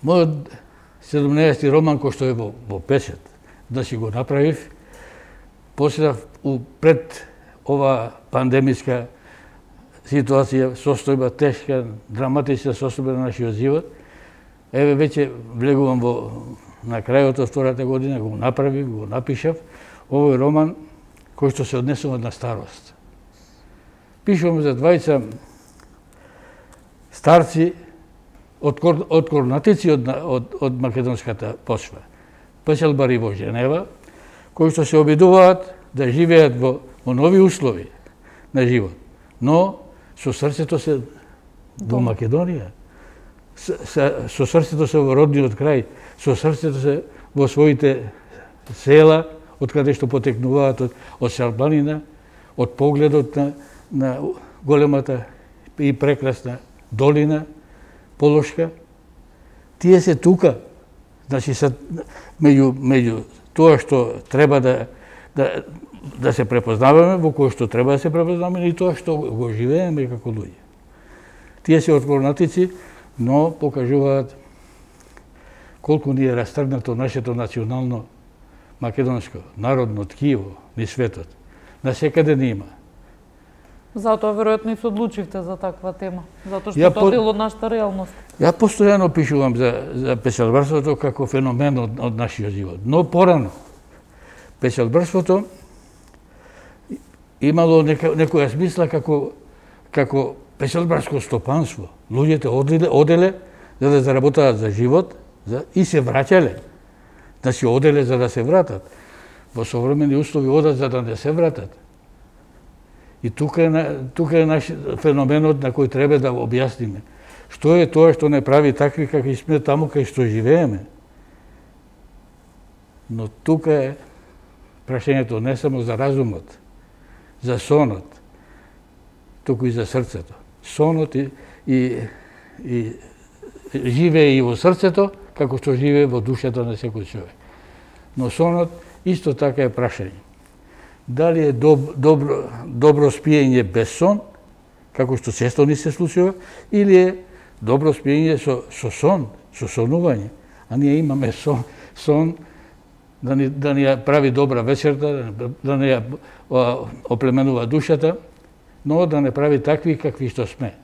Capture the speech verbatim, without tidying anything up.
Мојот седумнаесети роман кој што е во, во печат, значи го направив, после пред ова пандемиска ситуација, состојба тешка, драматична состојба на нашиот живот, еве веќе влегувам во на крајот од втората година, го направив, го напишав, овој роман кој што се однесува на старост. Пишувам за двајца старци од, од корнатици од, од, од македонската почва. Печалбари во Женева, кои што се обидуваат да живеат во, во нови услови на живот, но со срцето се во Македонија, со, со срцето се во родниот крај, со срцето се во своите села, од каде што потекнуваат од, од Шарбанина, од погледот на, на големата и прекрасна долина, Полошка. Тие се тука. Значи, са, меѓу, меѓу тоа што треба да, да, да се препознаваме, во кој што треба да се препознаваме, и тоа што го живееме како луѓе. Тие се од корнатици, но покажуваат колку ни е растргнато нашето национално македонско, народно ткиво низ светот. На секаде не има. Затоа веројатно и се одлучивте за таква тема, затоа што тоа дел од нашата реалност. Ја постојано пишувам за, за печалбарството како феномен од, од нашиот живот. Но порано, печалбарството имало нека, некоја смисла како, како печалбарско стопанство. Луѓето оделе, оделе за да заработаат за живот за, и се враќале. Значи, оделе за да се вратат. Во современи услови одат за да не се вратат. И тука е, тука е наш феноменот на кој треба да објасниме. Што е тоа што не прави такви какви сме таму кај што живееме? Но тука е прашањето не само за разумот, за сонот, туку и за срцето. Сонот и, и, и живее и во срцето, како што живее во душата на секој човек. Но сонот исто така е прашање. Дали е доб, добро, добро спиење без сон, како што често ни се случува, или е добро спиење со, со сон, со сонување. А ние имаме сон, сон да ни, да ни ја прави добра вечерта, да ни ја оплеменува душата, но да не прави такви какви што сме.